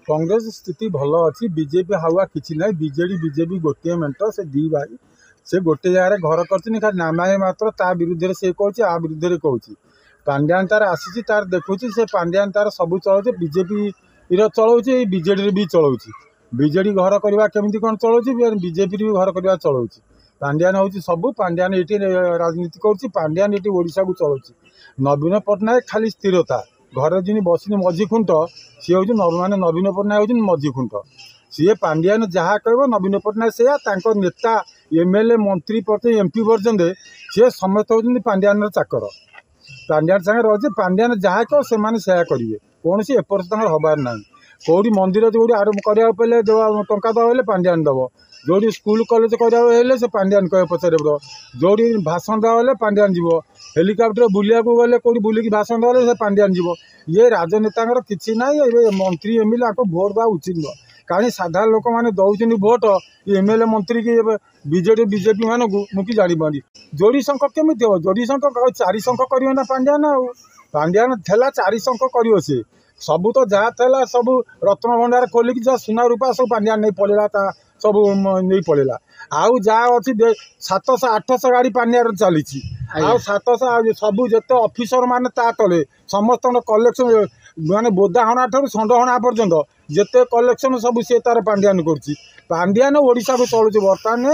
କଂଗ୍ରେସ ସ୍ଥିତି ଭଲ ଅଛି, ବିଜେପି ହାୱା କିଛି ନାହିଁ। ବିଜେଡ଼ି ବିଜେପି ଗୋଟିଏ ମେଣ୍ଟ, ସେ ଦୁଇ ଭାଇ ସେ ଗୋଟେ ଜାଗାରେ ଘର କରିଛନ୍ତି, ଖାଲି ନାମାଏ ମାତ୍ର। ତା ବିରୁଦ୍ଧରେ ସେ କହୁଛି, ଆ ବିରୁଦ୍ଧରେ କହୁଛି। ପାଣ୍ଡିଆନ ତାର ଆସିଛି, ତାର ଦେଖୁଛି, ସେ ପାଣ୍ଡିଆନ ତାର ସବୁ ଚଳାଉଛି। ବିଜେପିର ଚଳାଉଛି, ବିଜେଡ଼ିରେ ବି ଚଳାଉଛି। ବିଜେଡ଼ି ଘର କରିବା କେମିତି କ'ଣ ଚଳାଉଛି, ବିଜେପିରେ ବି ଘର କରିବା ଚଳାଉଛି। ପାଣ୍ଡିଆନ ହେଉଛି ସବୁ। ପାଣ୍ଡିଆନ ଏଠି ରାଜନୀତି କରୁଛି, ପାଣ୍ଡିଆନ ଏଠି ଓଡ଼ିଶାକୁ ଚଳାଉଛି। ନବୀନ ପଟ୍ଟନାୟକ ଖାଲି ସ୍ଥିରତା, ଘରେ ଯେମିତି ବସିନି ମଝି ଖୁଣ୍ଟ, ସିଏ ହେଉଛି, ମାନେ ନବୀନ ପଟ୍ଟନାୟକ ହେଉଛନ୍ତି ମଝି ଖୁଣ୍ଟ। ସିଏ ପାଣ୍ଡିଆନ ଯାହା କହିବ ନବୀନ ପଟ୍ଟନାୟକ ସେଇଆ। ତାଙ୍କ ନେତା ଏମ୍ ଏଲ୍ ଏ, ମନ୍ତ୍ରୀ ପର୍ଯ୍ୟନ୍ତ, ଏମ୍ ପି ପର୍ଯ୍ୟନ୍ତ, ସିଏ ସମସ୍ତେ ହେଉଛନ୍ତି ପାଣ୍ଡିଆନର ଚାକର। ପାଣ୍ଡିଆନ ସାଙ୍ଗରେ ରହୁଛି, ପାଣ୍ଡିଆନ ଯାହା କହିବ ସେମାନେ ସେୟା କରିବେ। କୌଣସି ଏପଟ ତାଙ୍କର ହେବାର ନାହିଁ। କେଉଁଠି ମନ୍ଦିର ଯେଉଁଠି ଆରମ୍ଭ କରିବାକୁ ପଡ଼ିଲେ ଟଙ୍କା ଦେବ ହେଲେ ପାଣ୍ଡିଆନ ଦେବ। ଯେଉଁଠି ସ୍କୁଲ କଲେଜ କରିବାକୁ ହେଲେ ସେ ପାଣ୍ଡିଆନ କହିବ, ପଚାରିବ। ଯେଉଁଠି ଭାଷଣ ଦେବା ହେଲେ ପାଣ୍ଡିଆନ ଯିବ। ହେଲିକପ୍ଟର ବୁଲିବାକୁ ଗଲେ, କେଉଁଠି ବୁଲିକି ଭାଷଣ ଦେବା ହେଲେ ସେ ପାଣ୍ଡିଆନ ଯିବ। ଇଏ ରାଜନେତାଙ୍କର କିଛି ନାହିଁ। ଏବେ ମନ୍ତ୍ରୀ ଏମ୍ ଏଲ୍ ଏ ଆକୁ ଭୋଟ ଦେବା ଉଚିତ ନୁହଁ, କାରଣ ସାଧାରଣ ଲୋକମାନେ ଦେଉଛନ୍ତି ଭୋଟ ଏମ୍ ଏଲ୍ ଏ, ମନ୍ତ୍ରୀ କି ଏବେ ବିଜେଡ଼ି ବିଜେପି ମାନଙ୍କୁ। ମୁଁ କି ଜାଣିପାରୁନି ଯୋଡ଼ି ଶଙ୍ଖ କେମିତି ହେବ। ଯୋଡ଼ି ଶଙ୍ଖ, ଚାରି ଶଙ୍ଖ କରିବ ନା ପାଣ୍ଡିଆନ? ଆଉ ପାଣ୍ଡିଆନ ଥିଲା, ଚାରି ଶଙ୍ଖ କରିବ ସିଏ। ସବୁ ତ ଯାହା ଥିଲା ସବୁ ରତ୍ନଭଣ୍ଡାର ଖୋଲିକି ଯାହା ସୁନା ରୂପା ସବୁ ପାଣ୍ଡିଆନ ନେଇ ପଳେଇଲା, ତା ସବୁ ନେଇ ପଳେଇଲା। ଆଉ ଯାହା ଅଛି, 700 800 ଗାଡ଼ି ପାଣ୍ଡିଆର ଚାଲିଛି। ଆଉ 700 ସବୁ ଯେତେ ଅଫିସର ମାନେ ତା ତଳେ ସମସ୍ତଙ୍କ କଲେକ୍ସନ, ମାନେ ବୋଦା ହଣା ଠାରୁ ଷଣ୍ଢ ହଣା ପର୍ଯ୍ୟନ୍ତ ଯେତେ କଲେକ୍ସନ ସବୁ ସିଏ ତାର ପାଣ୍ଡିଆନ କରୁଛି। ପାଣ୍ଡିଆନ ଓଡ଼ିଶାକୁ ଚଳୁଛି ବର୍ତ୍ତମାନ।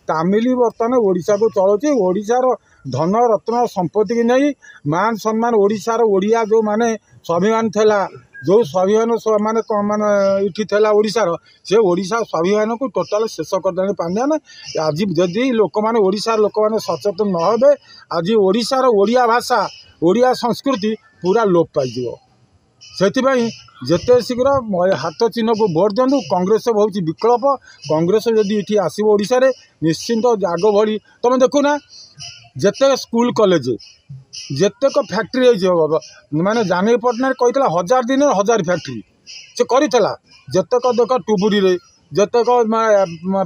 ତାମିଲି ବର୍ତ୍ତମାନ ଓଡ଼ିଶାକୁ ଚଳୁଛି। ଓଡ଼ିଶାର ଧନ ରତ୍ନ ସମ୍ପତ୍ତିକି ନେଇ ମାନ ସମ୍ମାନ, ଓଡ଼ିଶାର ଓଡ଼ିଆ ଯେଉଁମାନେ ସ୍ୱାଭିମାନ ଥିଲା, ଯେଉଁ ସ୍ୱାଭିମାନ ମାନେ ମାନେ ଏଠି ଥିଲା ଓଡ଼ିଶାର, ସେ ଓଡ଼ିଶା ସ୍ୱାଭିମାନକୁ ଟୋଟାଲ ଶେଷ କରିଦେଲାଣି ପାଣ୍ଡିଆନ। ଆଜି ଯଦି ଲୋକମାନେ, ଓଡ଼ିଶାର ଲୋକମାନେ ସଚେତନ ନ ହେବେ, ଆଜି ଓଡ଼ିଶାର ଓଡ଼ିଆ ଭାଷା, ଓଡ଼ିଆ ସଂସ୍କୃତି ପୁରା ଲୋପ ପାଇଯିବ। ସେଥିପାଇଁ ଯେତେ ଶୀଘ୍ର ହାତ ଚିହ୍ନକୁ ଭୋଟ ଦିଅନ୍ତୁ। କଂଗ୍ରେସ ହେଉଛି ବିକଳ୍ପ। କଂଗ୍ରେସ ଯଦି ଏଠି ଆସିବ ଓଡ଼ିଶାରେ, ନିଶ୍ଚିନ୍ତ ଆଗ ଭଳି ତୁମେ ଦେଖୁନା, ଯେତେ ସ୍କୁଲ କଲେଜ, ଯେତେକ ଫ୍ୟାକ୍ଟ୍ରି ହେଇଛି, ମାନେ ଜାନକୀ ପଟ୍ଟନାୟକ କହିଥିଲା 1000 ଦିନରେ 1000 ଫ୍ୟାକ୍ଟ୍ରି, ସେ କରିଥିଲା। ଯେତେକ ଦେଖ ଟୁବୁରିରେ, ଯେତେକ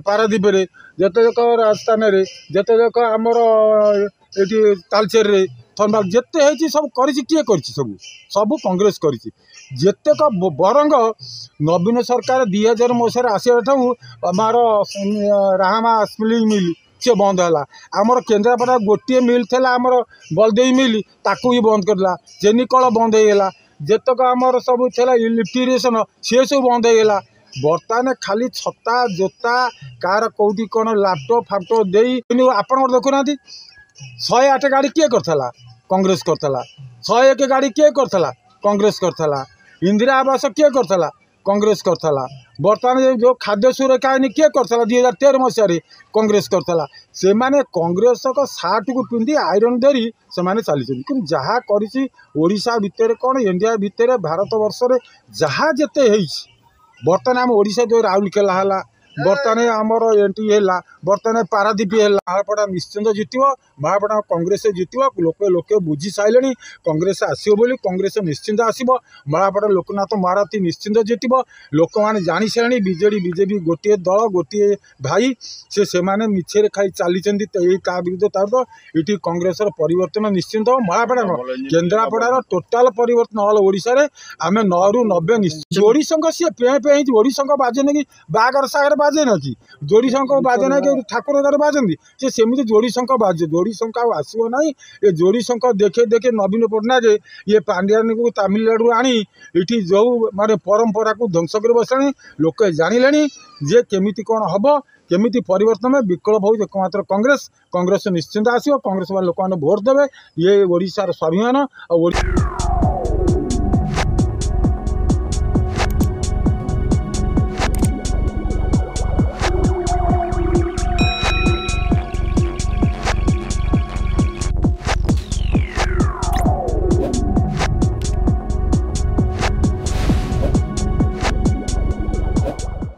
ପାରାଦ୍ୱୀପରେ, ଯେତେକ ରାଜସ୍ଥାନରେ, ଯେତେକ ଆମର ଏଠି ତାଲଚେରରେ, ଥଣ୍ଡା ଯେତେ ହେଇଛି ସବୁ କରିଛି। କିଏ କରିଛି? ସବୁ ସବୁ କଂଗ୍ରେସ କରିଛି ଯେତେକ। ବରଙ୍ଗ ନବୀନ ସରକାର 2000 ମସିହାରେ ଆସିବା ଠାରୁ ଆମର ରାହାମା ସ୍ପିନିଂ ମିଲ୍ ସିଏ ବନ୍ଦ ହେଲା। ଆମର କେନ୍ଦ୍ରାପଡ଼ା ଗୋଟିଏ ମିଲ୍ ଥିଲା, ଆମର ବଳଦେଇ ମିଲ୍, ତାକୁ ବି ବନ୍ଦ କରିଦେଲା। ଚିନିକଳ ବନ୍ଦ ହେଇଗଲା। ଯେତେକ ଆମର ସବୁ ଥିଲା ଇଲେକ୍ଟ୍ରିସିଆନ, ସିଏ ସବୁ ବନ୍ଦ ହେଇଗଲା। ବର୍ତ୍ତମାନ ଖାଲି ଛତା, ଜୋତା, କାହାର କେଉଁଠି କ'ଣ ଲାପଟପ୍ ଫାପଟପ୍ ଦେଇ। ଆପଣଙ୍କର ଦେଖୁନାହାନ୍ତି, 108 ଗାଡ଼ି କିଏ କରିଥିଲା? କଂଗ୍ରେସ କରିଥିଲା। 101 ଗାଡ଼ି କିଏ କରିଥିଲା? କଂଗ୍ରେସ କରିଥିଲା। ଇନ୍ଦିରା ଆବାସ କିଏ କରିଥିଲା? କଂଗ୍ରେସ କରିଥିଲା। ବର୍ତ୍ତମାନ ଯେଉଁ ଖାଦ୍ୟ ସୁରକ୍ଷା ଆଇନ କିଏ କରିଥିଲା 2013 ମସିହାରେ? କଂଗ୍ରେସ କରିଥିଲା। ସେମାନେ କଂଗ୍ରେସଙ୍କ ସାର୍ଟକୁ ପିନ୍ଧି ଆଇରନ୍ ଧରି ସେମାନେ ଚାଲିଛନ୍ତି। କିନ୍ତୁ ଯାହା କରିଛି ଓଡ଼ିଶା ଭିତରେ କ'ଣ, ଇଣ୍ଡିଆ ଭିତରେ, ଭାରତ ବର୍ଷରେ ଯାହା ଯେତେ ହେଇଛି, ବର୍ତ୍ତମାନ ଆମ ଓଡ଼ିଶା ଯେଉଁ ରାଉରକେଲା ହେଲା, ବର୍ତ୍ତମାନ ଆମର ଏଠି ହେଲା, ବର୍ତ୍ତମାନ ପାରାଦ୍ୱୀପ ହେଲା, ମହାପଡ଼ା ନିଶ୍ଚିନ୍ତ ଜିତିବ। ମହାପଡ଼ା କଂଗ୍ରେସ ଜିତିବ। ଲୋକେ ଲୋକେ ବୁଝି ସାରିଲେଣି କଂଗ୍ରେସ ଆସିବ ବୋଲି। କଂଗ୍ରେସ ନିଶ୍ଚିନ୍ତ ଆସିବ। ମହାପଡ଼ା ଲୋକନାଥ ମହାରଥୀ ନିଶ୍ଚିନ୍ତ ଜିତିବ। ଲୋକମାନେ ଜାଣି ସାରିଲେଣି ବିଜେଡ଼ି ବିଜେପି ଗୋଟିଏ ଦଳ, ଗୋଟିଏ ଭାଇ। ସେ ସେମାନେ ମିଛରେ ଖାଇ ଚାଲିଛନ୍ତି ଏଇ ତା ବିରୁଦ୍ଧ ତା ବିରୁଦ୍ଧ। ଏଠି କଂଗ୍ରେସର ପରିବର୍ତ୍ତନ ନିଶ୍ଚିନ୍ତ। ମହାପଡ଼ା କ'ଣ, କେନ୍ଦ୍ରାପଡ଼ାର ଟୋଟାଲ ପରିବର୍ତ୍ତନ। ଅଲ୍ ଓଡ଼ିଶାରେ ଆମେ 9ରୁ 90 ନିଶ୍ଚିତ। ଯୋଡ଼ି ଶଙ୍ଖ ସିଏ ପେଁ ପେଁ ହେଇଛି। ଯୋଡ଼ି ଶଙ୍ଖ ବାଜେନି କି ବାହାଘର ସାଗରେ ବାଜେ କି? ଯୋଡ଼ି ଶଙ୍ଖ ବାଜେ ନାହିଁ କି ଠାକୁର ଘରେ ବାଜନ୍ତି? ସେ ସେମିତି ଯୋଡ଼ି ଶଙ୍ଖ ବାଜେ। ଯୋଡ଼ି ଶଙ୍ଖ ଆଉ ଆସିବ ନାହିଁ। ଏ ଯୋଡ଼ି ଶଙ୍ଖ ଦେଖେଇ ଦେଖେଇ ନବୀନ ପଟ୍ଟନାୟକ ଇଏ ପାଣ୍ଡିଆନକୁ ତାମିଲନାଡ଼ୁରୁ ଆଣି ଏଠି ଯେଉଁ ମାନେ ପରମ୍ପରାକୁ ଧ୍ୱଂସ କରି ବସିଲାଣି। ଲୋକେ ଜାଣିଲେଣି ଯେ କେମିତି କ'ଣ ହେବ, କେମିତି ପରିବର୍ତ୍ତନ। ବିକଳ୍ପ ହେଉଛି ଏକମାତ୍ର କଂଗ୍ରେସ। କଂଗ୍ରେସ ନିଶ୍ଚିନ୍ତ ଆସିବ। କଂଗ୍ରେସ ଲୋକମାନେ ଭୋଟ ଦେବେ। ଇଏ ଓଡ଼ିଶାର ସ୍ୱାଭିମାନ ଆଉ